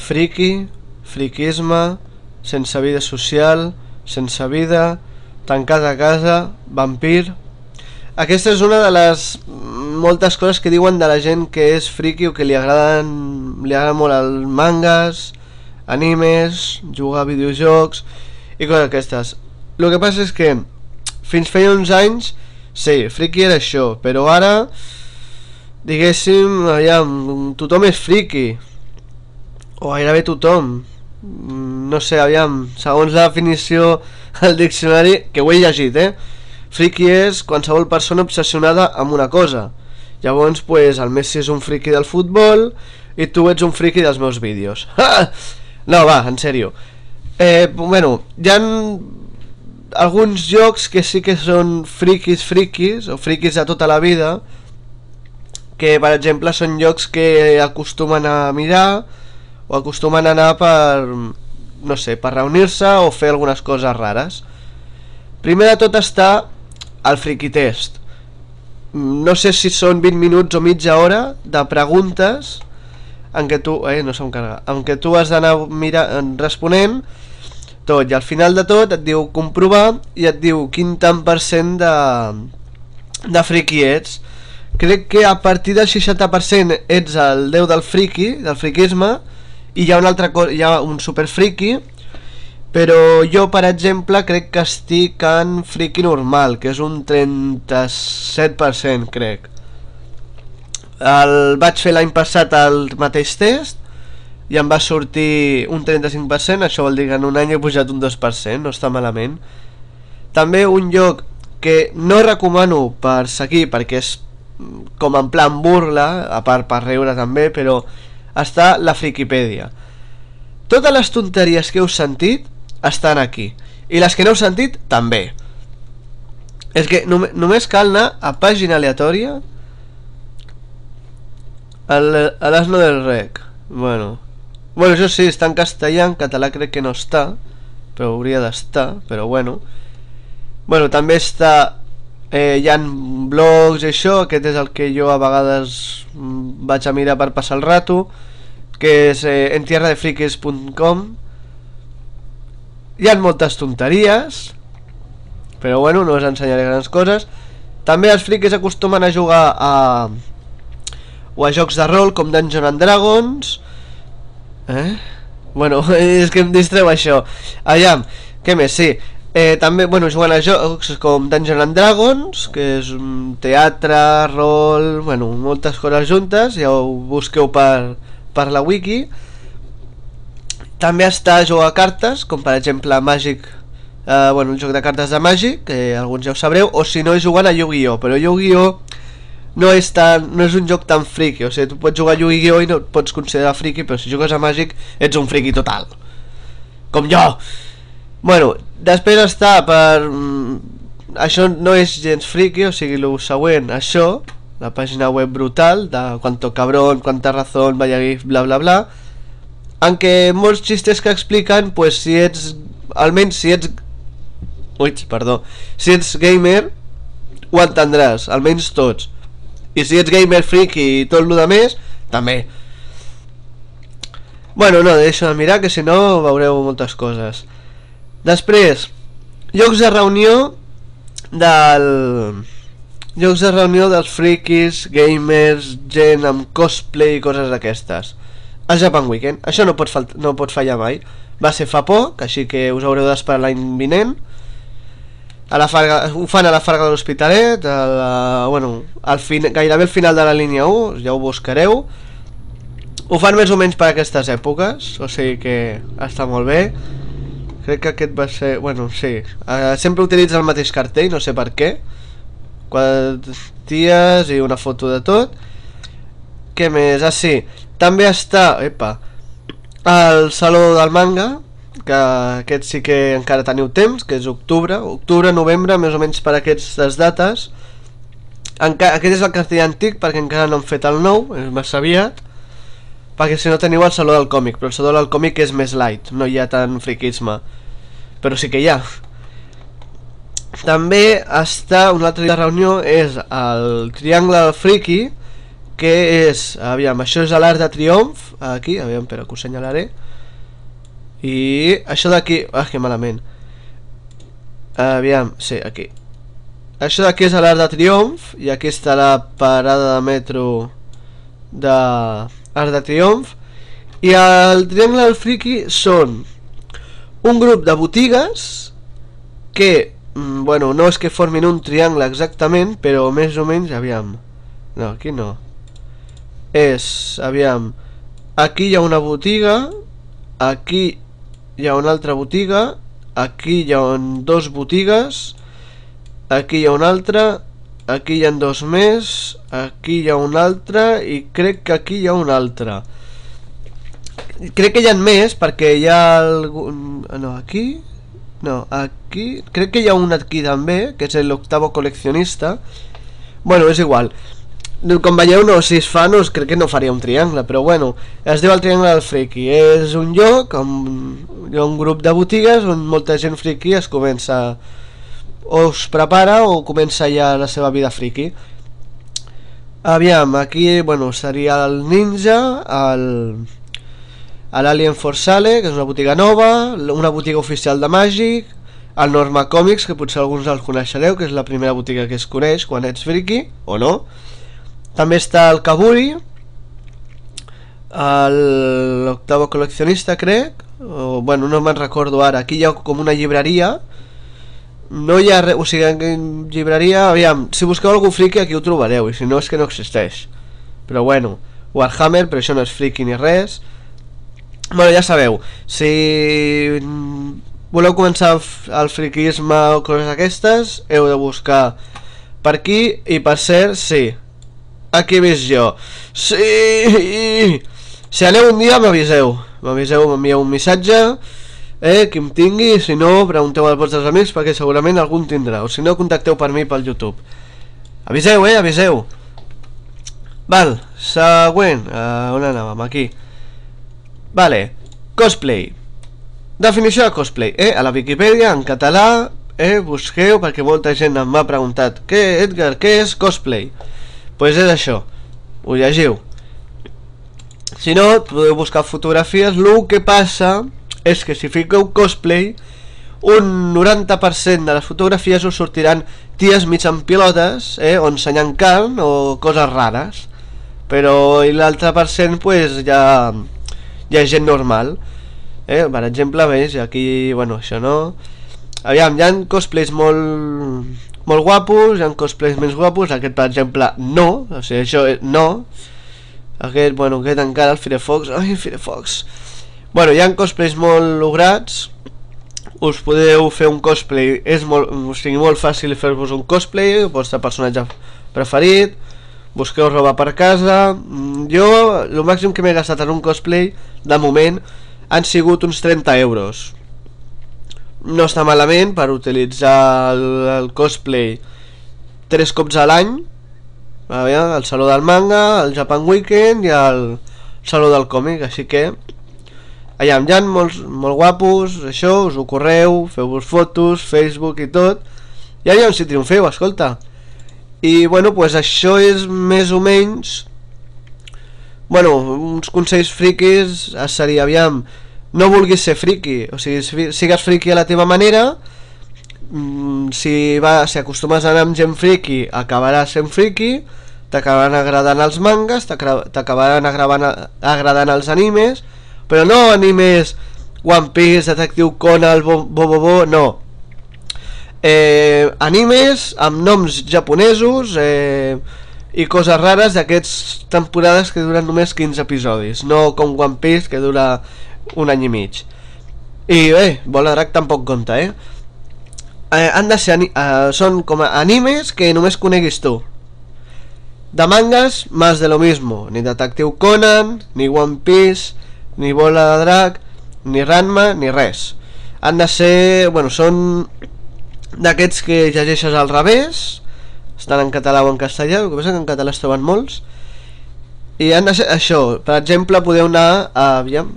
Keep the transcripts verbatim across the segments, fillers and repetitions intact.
friki, friquisme, sense vida social, sense vida, tancat a casa, vampir. Aquesta és una de les moltes coses que diuen de la gent que és friki o que li agraden, li agraden molt els mangas, animes, jugar a videojocs i coses aquestes. El que passa és que fins feia uns anys, sí, friki era això, però ara, diguéssim, aviam, tothom és friki, o gairebé tothom. No sé, aviam, segons la definició al diccionari, que ho he llegit, eh? Friki és qualsevol persona obsessionada amb una cosa. Llavors, pues, el Messi és un friki del futbol i tu ets un friki dels meus vídeos. No, va, en sèrio. Eh, bueno, hi ha alguns jocs que sí que són frikis frikis, o frikis de tota la vida, que per exemple són jocs que acostumen a mirar o acostumen a anar per, no sé, per reunir-se o fer algunes coses rares. Primer de tot està el friki test. No sé si són vint minuts o mitja hora de preguntes en què tu, eh, no se'm carrega, en què tu has d'anar responent tot, i al final de tot et diu comprovar i et diu quin tant per cent de, de friki ets. Crec que a partir del seixanta per cent ets el déu del friki, del friquisme, i hi ha un altre, hi ha un super friki, però jo per exemple crec que estic en friki normal, que és un trenta-set per cent, crec. El vaig fer l'any passat el mateix test i em va sortir un trenta-cinc per cent, això vol dir que en un any he pujat un dos per cent, no està malament. També un lloc que no recomano per seguir perquè és com en plan burla, a part per riure també, però està la Frikipèdia. Totes les tonteries que heu sentit estan aquí, i les que no heu sentit també. És que nom només cal anar a pàgina aleatòria, a l'asno del rec. Bueno, bueno, això sí, està en castellà, en català crec que no està, però hauria d'estar, però bueno. Bueno, també està, eh, hi ha blogs i això, aquest és el que jo a vegades vaig a mirar per passar el rato, que és eh, en tierra de frikis punt com. Hi ha moltes tonteries, però bueno, no us ensenyaré grans coses. També els frikis acostumen a jugar a o a jocs de rol com Dungeons and Dragons, eh? Bueno, és que em distreu això. Aviam, què més? Sí, eh, també, bueno, juguen a jocs com Dungeons and Dragons, que és un teatre, rol, bueno, moltes coses juntes, ja ho busqueu per, per la wiki. També està a jugar a cartes, com per exemple Magic, eh, bueno, el joc de cartes de Magic, que alguns ja ho sabreu, o si no jugant a Yu-Gi-Oh, però Yu-Gi-Oh no és, tan, no és un joc tan friki, o sigui, tu pots jugar a Yu-Gi-Oh i no et pots considerar friki, però si jugues a Magic ets un friki total, com jo. Bueno, després està per... això no és gens friki, o sigui, el següent, això, la pàgina web brutal, de Cuanto Cabrón, Cuanta Razón, Vaya Gif, bla bla bla, en què molts xistes que expliquen, pues si ets, almenys si ets, ui, perdó, si ets gamer, ho entendràs, almenys tots. I si ets gamer friki i tot el de més, també. Bueno, no, deixo de mirar, que si no veureu moltes coses. Després, llocs de reunió del... llocs de reunió dels frikis, gamers, gent amb cosplay i coses d'aquestes. El Japan Weekend, això no pot, no pot fallar mai. Va ser fa poc, així que us haureu d'esperar l'any vinent. A la Farga, ho fan a la Farga de l'Hospitalet, bueno, al fin, gairebé al final de la línia u, ja ho buscareu. Ho fan més o menys per aquestes èpoques, o sigui que està molt bé. Crec que aquest va ser... bueno, sí, uh, sempre utilitza el mateix cartell, no sé per què. Quatre ties i una foto de tot. Què més? Ah, sí, també està, epa, el Saló del Manga, que aquest sí que encara teniu temps, que és octubre, octubre, novembre, més o menys per aquestes dates. Enca aquest és el cartell antic, perquè encara no han fet el nou, és massa aviat, perquè si no teniu el Saló del Còmic, però el Saló del Còmic és més light, no hi ha tant friquisme, però sí que hi ha. També està, una altra reunió és el Triangle del Friki, que és, aviam, això és l'Arc de Triomf, aquí, aviam, però que ho senyalaré. I això d'aquí, ah, que malament. Aviam, sí, aquí. Això d'aquí és l'Arc de Triomf, i aquí està la parada de metro de Arc de Triomf. I el Triangle del Friki són un grup de botigues que, bueno, no és que formin un triangle exactament, però més o menys, aviam, no, aquí no, és, aviam, aquí hi ha una botiga, aquí hi ha una altra botiga, aquí hi ha dos botigues, aquí hi ha una altra, aquí hi ha dos més, aquí hi ha una altra i crec que aquí hi ha una altra. Crec que hi ha més perquè hi ha algun... no, aquí... no, aquí... crec que hi ha un aquí també, que és l'Octavo Coleccionista. Bueno, és igual. Com veieu, no, si es fa, no, crec que no faria un triangle, però bueno, es diu el Triangle del Friki. És un lloc on hi ha un grup de botigues on molta gent friki es comença... o es prepara o comença ja la seva vida friki. Aviam, aquí, bueno, seria el Ninja, el... a l'Alien Forsale, que és una botiga nova, una botiga oficial de Màgic, el Norma Comics, que potser alguns els coneixereu, que és la primera botiga que es coneix quan ets friki, o no. També està el Kaburi, l'Octavo Coleccionista, crec, o, bueno, no me'n recordo ara. Aquí hi ha com una llibreria, no hi ha res, o sigui, en llibreria, aviam, si busqueu algú friki aquí ho trobareu, i si no és que no existeix. Però bueno, Warhammer, però això no és friki ni res. Bueno, ja sabeu, si voleu començar el friquisme o coses aquestes, heu de buscar per aquí. I per cert, sí, aquí he vist jo. Sí! Si aneu un dia m'aviseu, m'aviseu, m'envieu un missatge, eh, qui em tingui. Si no, pregunteu als vostres amics perquè segurament algun tindrà, o si no, contacteu per mi pel YouTube. Aviseu, eh, aviseu. Val, següent, uh, on anàvem? Aquí. Vale, cosplay. Definició de cosplay, eh? A la Viquipèdia, en català, eh? Busqueu, perquè molta gent em m'ha preguntat: què, Edgar, què és cosplay? Pues és això, ho llegiu. Si no, podeu buscar fotografies. El que passa és que si fiqueu cosplay, un noranta per cent de les fotografies us sortiran ties mig en pilotes, eh? O ensenyant carn o coses rares. Però l'altre per cent, pues, ja... hi ha gent normal, eh? Per exemple, veus, aquí, bueno, això no. Aviam, hi ha cosplays molt molt guapos, hi ha cosplays més guapos. Aquest, per exemple, no, o sigui, això no. Aquest, bueno, aquest encara, el Firefox. Ai, Firefox. Bueno, hi ha cosplays molt lograts. Us podeu fer un cosplay, és molt, o sigui, molt fàcil fer-vos un cosplay, el vostre personatge preferit. Busqueu roba per casa. Jo, el màxim que m'he gastat en un cosplay, de moment, han sigut uns trenta euros. No està malament per utilitzar el, el cosplay tres cops a l'any. El Saló del Manga, el Japan Weekend i el Saló del Còmic, així que allà hi ha molts, molt guapos, això, us ho correu, feu-vos fotos, Facebook i tot, i allà on si triomfeu, escolta. I bueno, pues això és més o menys, bueno, uns consells friquis seria, aviam, no vulguis ser friki, o sigui, si sigues friki a la teva manera, si, va, si acostumes a anar amb gent friki, acabaràs sent friki, t'acabaran agradant els mangas, t'acabaran agradant els animes, però no animes One Piece, Detective Conan, Bo Bo Bo, Bo no. Eh, animes amb noms japonesos eh, i coses rares d'aquestes temporades que duren només quinze episodis, no com One Piece que dura un any i mig. I bé, Bola Drac tampoc compta, eh? eh han de ser eh, són com a animes que només coneguis tu. De mangas, más de lo mismo. Ni Detective Conan, ni One Piece, ni Bola de Drac, ni Ranma, ni res. Han de ser, bueno, són d'aquests que llegeixes al revés, estan en català o en castellà, el que passa que en català es troben molts, i han de ser això. Per exemple, podeu anar a, aviam,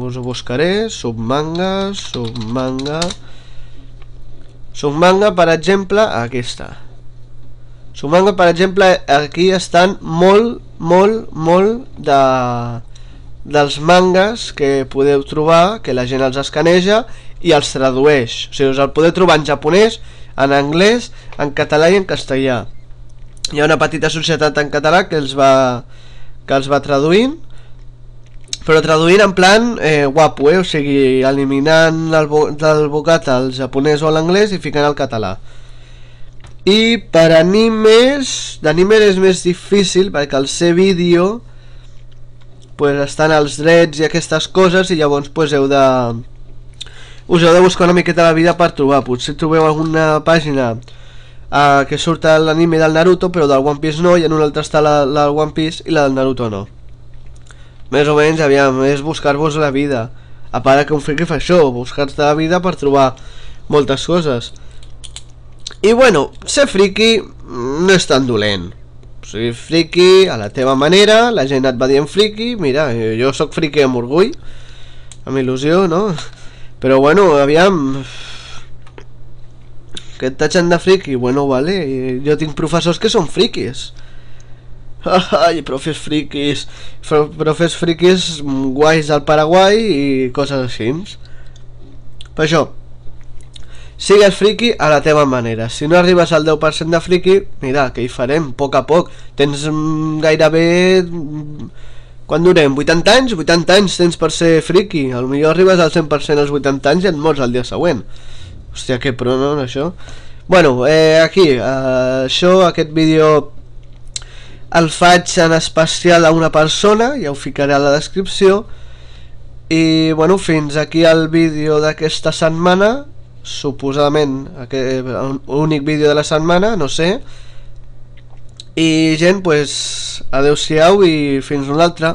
us ho buscaré, Submanga, Submanga, Submanga, per exemple, aquí està. Submanga, per exemple, aquí estan molt molt, molt de, dels mangas que podeu trobar, que la gent els escaneja i els tradueix. O sigui, us el podeu trobar en japonès, en anglès, en català i en castellà. Hi ha una petita societat en català que els va, que els va traduint, però traduint en plan eh, guapo, eh? O sigui, eliminant el, del bocata el japonès o l'anglès i ficant el català. I per animes, d'anime és més difícil perquè al ser vídeo pues estan els drets i aquestes coses i llavors pues heu de us heu de buscar una miqueta la vida per trobar. Potser trobeu alguna pàgina uh, que surt l'anime del Naruto però del One Piece no, i en una altra està la, la del One Piece i la del Naruto no. Més o menys, aviam, és buscar-vos la vida. A part que un friki fa això, buscar-te la vida per trobar moltes coses. I bueno, ser friki no és tan dolent. O sigui, friki a la teva manera, la gent et va dient friki, mira, jo sóc friki amb orgull, amb il·lusió, no? Però bueno, aviam, que et tatxen de friki, bueno, vale, jo tinc professors que són frikis. Ai, profes frikis, profes frikis guais del Paraguai i coses així. Per això, sigues friki a la teva manera. Si no arribes al deu per cent de friki, mira, què hi farem? A poc a poc. Tens gairebé... Quan durem? vuitanta anys? vuitanta anys tens per ser friki. Potser arribes al cent per cent als vuitanta anys i et mors el dia següent. Hòstia, que pro, no, això? Bueno, eh, aquí, eh, això, aquest vídeo el faig en especial a una persona, ja ho ficaré a la descripció. I bueno, fins aquí el vídeo d'aquesta setmana, suposadament l'únic vídeo de la setmana, no sé. I gent, pues adeu-siau i fins una altra.